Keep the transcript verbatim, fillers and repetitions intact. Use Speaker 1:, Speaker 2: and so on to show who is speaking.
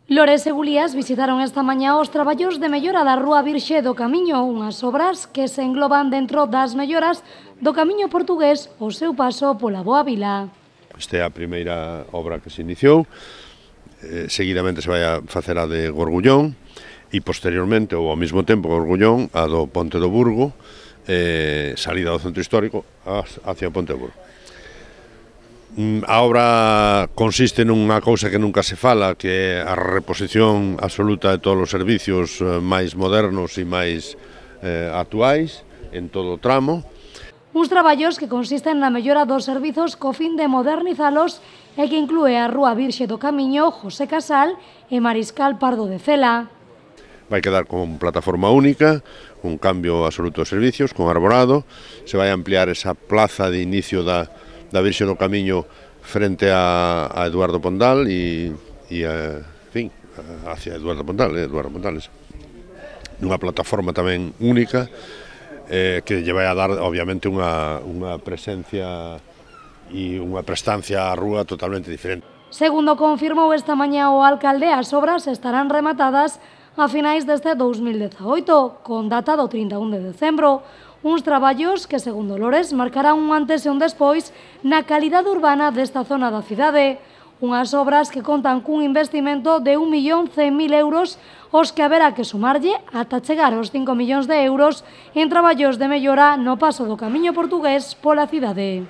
Speaker 1: Lores e Gulías visitaron esta mañá os traballos de mellora da Rúa Virxe do Camiño, unhas obras que se engloban dentro das melloras do Camiño portugués ao seu paso pola Boa Vila.
Speaker 2: Esta é a primeira obra que se iniciou, eh, seguidamente se vai a facer a de Gorgullón e posteriormente, ou ao mesmo tempo Gorgullón, a do Ponte do Burgo, eh, salida do centro histórico hacia o Ponte do Burgo. A obra consiste nunha cousa que nunca se fala, que é a reposición absoluta de todos os servicios máis modernos e máis eh, actuais en todo o tramo.
Speaker 1: Uns traballos que consisten na mellora dos servizos co fin de modernizalos e que inclúe a Rúa Virxe do Camiño, José Casal e Mariscal Pardo de Cela.
Speaker 2: Vai quedar con plataforma única, un cambio absoluto de servicios, con arborado, se vai ampliar esa plaza de inicio da da Virxe do Camiño frente a, a Eduardo Pondal e, e a, en fin, hacia Eduardo Pondal, eh, Eduardo Pondales. Nunha plataforma tamén única eh, que lle vai a dar, obviamente, unha, unha presencia e unha prestancia á rúa totalmente diferente.
Speaker 1: Segundo confirmou esta mañá o alcalde, as obras estarán rematadas a finais deste dous mil dezaoito, con data do trinta e un de decembro. Uns traballos que, segundo Lores, marcarán un antes e un despois na calidade urbana desta zona da cidade. Unhas obras que contan cun investimento de un millón cen mil euros, os que haberá que sumarlle ata chegar aos cinco millóns de euros en traballos de mellora no paso do Camiño portugués pola cidade.